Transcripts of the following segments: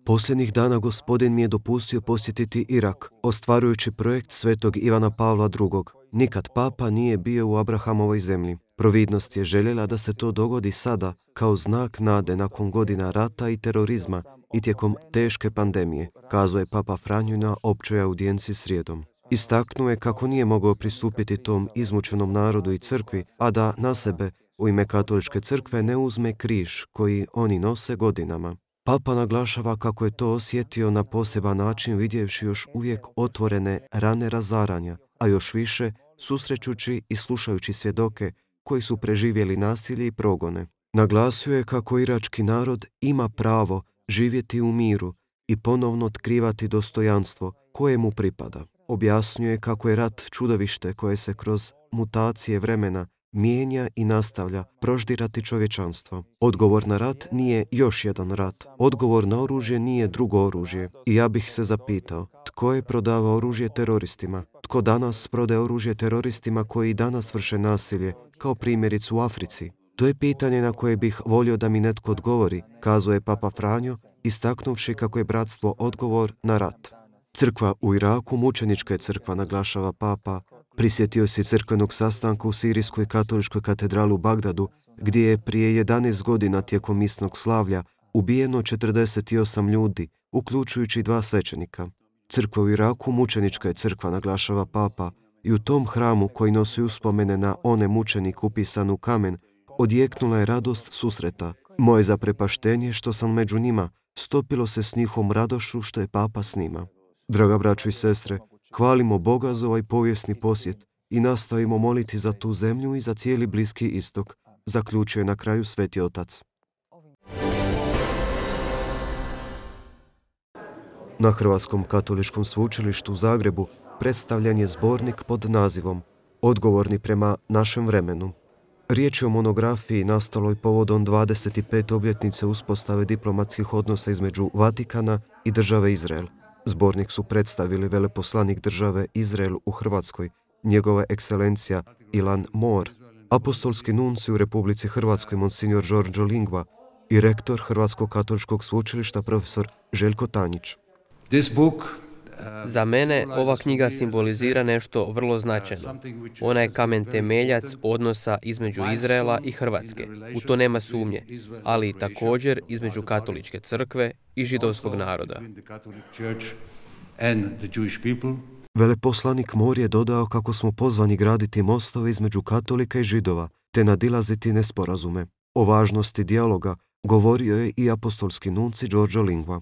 Posljednjih dana Gospodin mi je dopustio posjetiti Irak, ostvarujući projekt svetog Ivana Pavla II. Nikad papa nije bio u Abrahamovoj zemlji. Providnost je željela da se to dogodi sada, kao znak nade nakon godina rata i terorizma i tijekom teške pandemije, kazuje papa Franjo na općoj audijenciji srijedom. Istaknuo je kako nije mogao pristupiti tom izmučenom narodu i crkvi, a da na sebe u ime katoličke crkve ne uzme križ koji oni nose godinama. Papa naglašava kako je to osjetio na poseban način vidjevši još uvijek otvorene rane razaranja, a još više susrećući i slušajući svjedoke koji su preživjeli nasilje i progone. Naglasio je kako irački narod ima pravo živjeti u miru i ponovno otkrivati dostojanstvo koje mu pripada. Objasnio je kako je rat čudovište koje se kroz mutacije vremena mijenja i nastavlja proždirati čovječanstvo. Odgovor na rat nije još jedan rat. Odgovor na oružje nije drugo oružje. I ja bih se zapitao, tko je prodavao oružje teroristima? Tko danas prodaje oružje teroristima koji danas vrše nasilje, kao primjerice u Africi? To je pitanje na koje bih volio da mi netko odgovori, kazuje papa Franjo, istaknuvši kako je bratstvo odgovor na rat. Crkva u Iraku, mučenička je crkva, naglašava papa. Prisjetio se crkvenog sastanka u Sirijskoj katoličkoj katedrali u Bagdadu, gdje je prije 11 godina tijekom misnog slavlja ubijeno 48 ljudi, uključujući 2 svećenika. Crkva u Iraku, mučenička je crkva, naglašava papa, i u tom hramu koji nosi uspomene na one mučenike upisan u kamen, odjeknula je radost susreta. Moje zaprepaštenje što sam među njima stopilo se s njihovom radošću što je papa s njima. Draga braćo i sestre, hvalimo Boga za ovaj povijesni posjet i nastavimo moliti za tu zemlju i za cijeli Bliski istok, zaključuje na kraju Sveti Otac. Na Hrvatskom katoličkom sveučilištu u Zagrebu predstavljen je zbornik pod nazivom Odgovorni prema našem vremenu. Riječ je o monografiji nastaloj povodom 25. obljetnice uspostave diplomatskih odnosa između Vatikana i države Izrael. Zbornik su predstavili veleposlanik države Izrael u Hrvatskoj, njegova ekscelencija Ilan Mor, apostolski nuncij u Republici Hrvatskoj monsignor Đorđo Lingva i rektor Hrvatskog katoličkog sveučilišta profesor Željko Tanjić. Za mene ova knjiga simbolizira nešto vrlo značajno. Ona je kamen temeljac odnosa između Izraela i Hrvatske. U to nema sumnje, ali i također između katoličke crkve i židovskog naroda. Veleposlanik Mor je dodao kako smo pozvani graditi mostove između katolika i židova, te nadilaziti nesporazume. O važnosti dijaloga govorio je i apostolski nuncij Đorđo Lingva.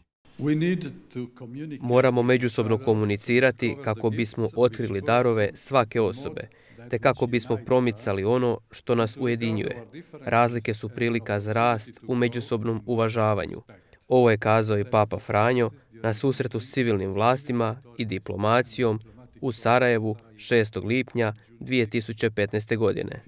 Moramo međusobno komunicirati kako bismo otkrili darove svake osobe, te kako bismo promicali ono što nas ujedinjuje. Razlike su prilika za rast u međusobnom uvažavanju. Ovo je kazao i papa Franjo na susretu s civilnim vlastima i diplomacijom u Sarajevu 6. lipnja 2015. godine.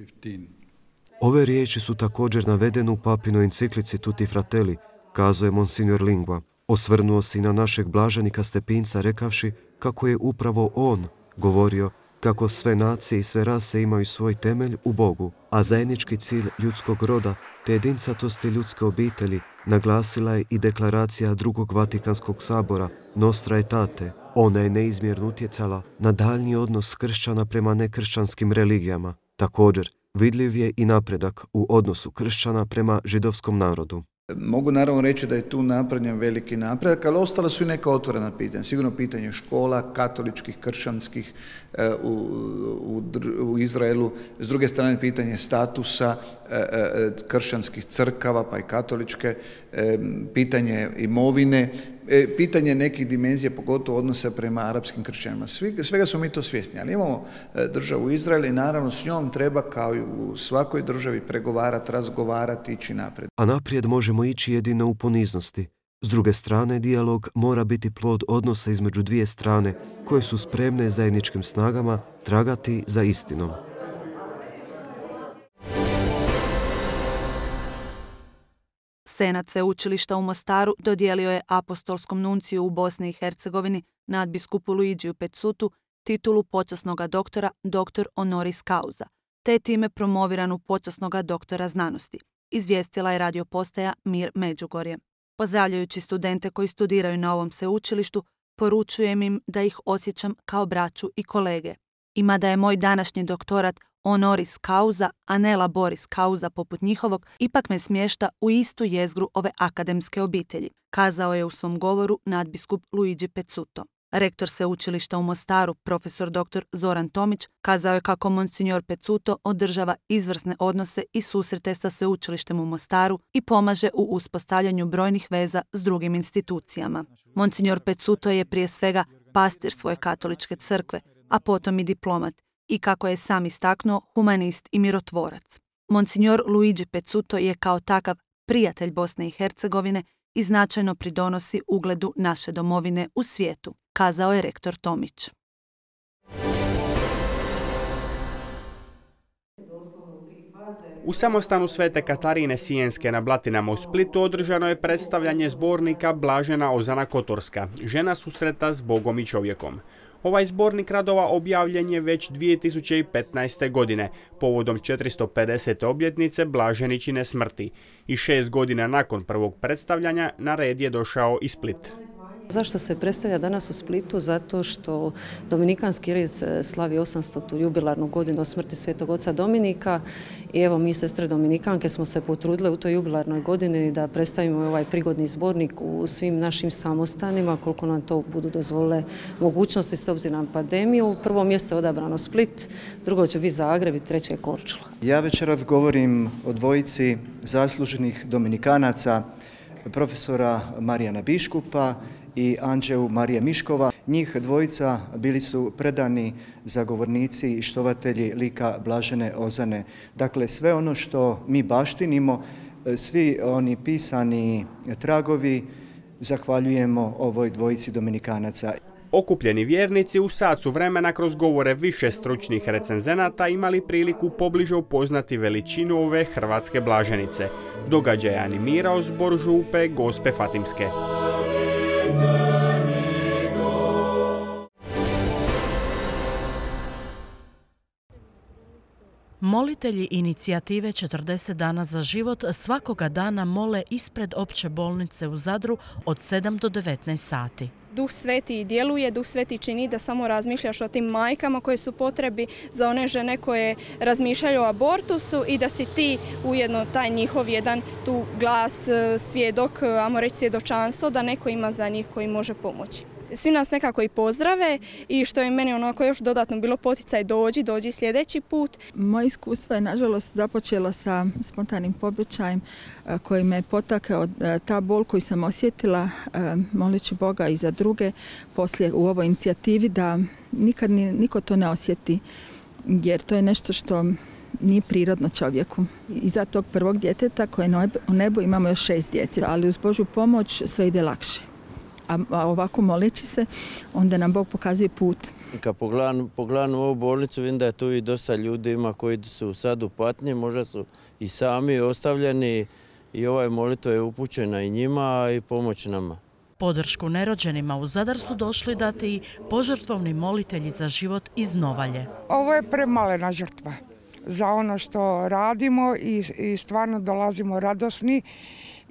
Ove riječi su također navedene u papinoj enciklici Tutti Fratelli, kazuje monsignor Lingva. Osvrnuo se i na našeg blaženika Stepinca rekavši kako je upravo on govorio kako sve nacije i sve rase imaju svoj temelj u Bogu, a zajednički cilj ljudskog roda te jedincatosti ljudske obitelji naglasila je i deklaracija Drugog Vatikanskog sabora Nostra Aetate. Ona je neizmjerno utjecala na daljnji odnos kršćana prema nekršćanskim religijama. Također, vidljiv je i napredak u odnosu kršćana prema židovskom narodu. Mogu naravno reći da je tu napravljen veliki napredak, ali ostala su i neka otvorena pitanja. Sigurno pitanje škola, katoličkih, kršćanskih u Izraelu. S druge strane pitanje statusa kršćanskih crkava, pa i katoličke, pitanje imovine, pitanje nekih dimenzija, pogotovo odnosa prema arapskim kršćanima. Svega smo mi to svjesni, ali imamo državu Izrael i naravno s njom treba kao i u svakoj državi pregovarati, razgovarati, ići naprijed. A naprijed možemo ići jedino u poniznosti. S druge strane, dijalog mora biti plod odnosa između dvije strane koje su spremne zajedničkim snagama tragati za istinom. Senat Sveučilišta u Mostaru dodijelio je apostolskom nunciju u Bosni i Hercegovini nadbiskupu Luigiju Peccutu titulu počasnoga doktora dr. honoris causa, te time promoviranu počasnoga doktora znanosti, izvijestila je radio postaja Mir Međugorje. Pozdravljajući studente koji studiraju na ovom sveučilištu, poručujem im da ih osjećam kao braću i kolege. I mada je moj današnji doktorat honoris causa, a ne laboris causa poput njihovog, ipak me smješta u istu jezgru ove akademske obitelji, kazao je u svom govoru nadbiskup Luigi Pezzuto. Rektor sveučilišta u Mostaru, profesor dr. Zoran Tomić, kazao je kako monsignor Pezzuto održava izvrsne odnose i susrete sa sveučilištem u Mostaru i pomaže u uspostavljanju brojnih veza s drugim institucijama. Monsignor Pezzuto je prije svega pastir svoje katoličke crkve, a potom i diplomat, i kako je sam istaknuo, humanist i mirotvorac. Monsignor Luigi Pezzuto je kao takav prijatelj Bosne i Hercegovine i značajno pridonosi ugledu naše domovine u svijetu, kazao je rektor Tomić. U samostanu Svete Katarine Sijenske na Blatinama u Splitu održano je predstavljanje zbornika Blažena Ozana Kotorska, žena susreta s Bogom i čovjekom. Ovaj zbornik radova objavljen je već 2015. godine, povodom 450. obljetnice Blaženičine smrti i 6 godina nakon prvog predstavljanja na red je došao i Split. Zašto se predstavlja danas u Splitu? Zato što Dominikanski red slavi 800. jubilarnu godinu od smrti svetog oca Dominika i evo mi sestre Dominikanke smo se potrudile u toj jubilarnoj godini da predstavimo ovaj prigodni zbornik u svim našim samostanima koliko nam to budu dozvolile mogućnosti s obzirom na pandemiju. U prvo mjesto je odabrano Split, drugo će biti Zagreb i treće je Korčula. Ja večeras govorim o dvojici zasluženih Dominikanaca, profesora Marijana Biškupa i Anđeu Marije Miškova. Njih dvojica bili su predani zagovornici i štovatelji lika Blažene Ozane. Dakle, sve ono što mi baštinimo, svi oni pisani tragovi, zahvaljujemo ovoj dvojici Dominikanaca. Okupljeni vjernici u sat su vremena kroz govore više stručnih recenzenata imali priliku pobliže upoznati veličinu ove hrvatske blaženice. Događaj je animirao zbor župe Gospe Fatimske. Molitelji inicijative 40 dana za život svakoga dana mole ispred opće bolnice u Zadru od 7 do 19 sati. Duh Sveti djeluje, Duh Sveti čini da samo razmišljaš o tim majkama koje su potrebi za one žene koje razmišljaju o abortusu i da si ti ujedno taj njihov jedan tu glas, svjedok, ajmo reći svjedočanstvo, da neko ima za njih koji može pomoći. Svi nas nekako i pozdrave i što je meni onako još dodatno bilo poticaj dođi sljedeći put. Moje iskustvo je nažalost započelo sa spontanim pobačajem koji me potakao ta bol koju sam osjetila moleći Boga i za druge poslije u ovoj inicijativi da nikad niko to ne osjeti jer to je nešto što nije prirodno čovjeku. Iza tog prvog djeteta koje je u nebu imamo još 6 djece, ali uz Božju pomoć sve ide lakše. A ovako moleći se, onda nam Bog pokazuje put. Kad pogledam ovu bolnicu, vidim da je tu i dosta ljudi ima koji su sad u patnji, možda su i sami ostavljeni i ovaj molitva je upućena i njima i pomoć nama. Podršku nerođenima u Zadar su došli dati i požrtvovni molitelji za život iz Novalje. Ovo je premalena žrtva za ono što radimo i stvarno dolazimo radosni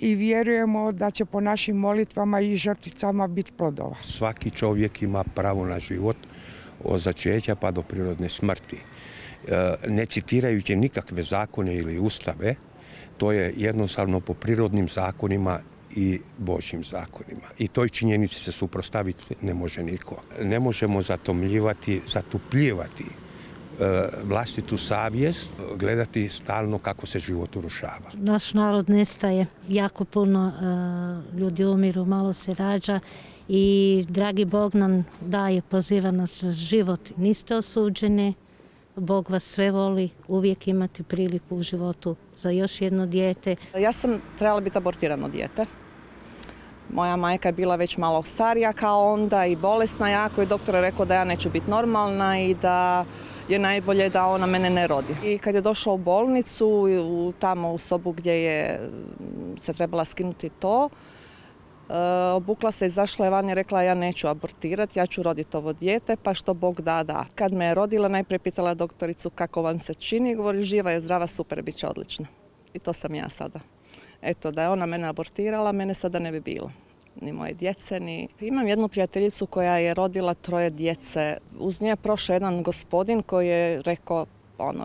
i vjerujemo da će po našim molitvama i žrtvicama biti plodova. Svaki čovjek ima pravo na život od začeća pa do prirodne smrti. Ne citirajući nikakve zakone ili ustave, to je jednostavno po prirodnim zakonima i Božjim zakonima. I toj činjenici se suprotstaviti ne može niko. Ne možemo zatupljivati vlastitu savjest, gledati stalno kako se život urušava. Naš narod nestaje, jako puno ljudi umiru, malo se rađa i dragi Bog nam daje, poziva nas za život. Niste osuđeni, Bog vas sve voli, uvijek imate priliku u životu za još jedno dijete. Ja sam trebala biti abortirano dijete. Moja majka je bila već malo starija kao onda i bolesna jako i doktor je rekao da ja neću biti normalna i da je najbolje da ona mene ne rodi. I kad je došla u bolnicu, tamo u sobu gdje je se trebala skinuti to, obukla se, izašla je van i rekla ja neću abortirati, ja ću roditi ovo dijete, pa što Bog da. Kad me je rodila, najprije pitala doktoricu kako vam se čini, govori živa je, zdrava, super, bit će odlično. I to sam ja sada. Eto, da je ona mene abortirala, mene sada ne bi bilo. Ni moje djece, ni... Imam jednu prijateljicu koja je rodila 3 djece. Uz nje je prošao jedan gospodin koji je rekao,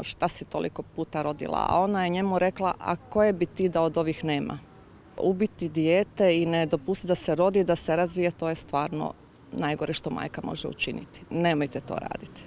šta si toliko puta rodila? A ona je njemu rekla, a koje bi ti da od ovih nema? Ubiti dijete i ne dopustiti da se rodi, da se razvije, to je stvarno najgore što majka može učiniti. Nemojte to raditi.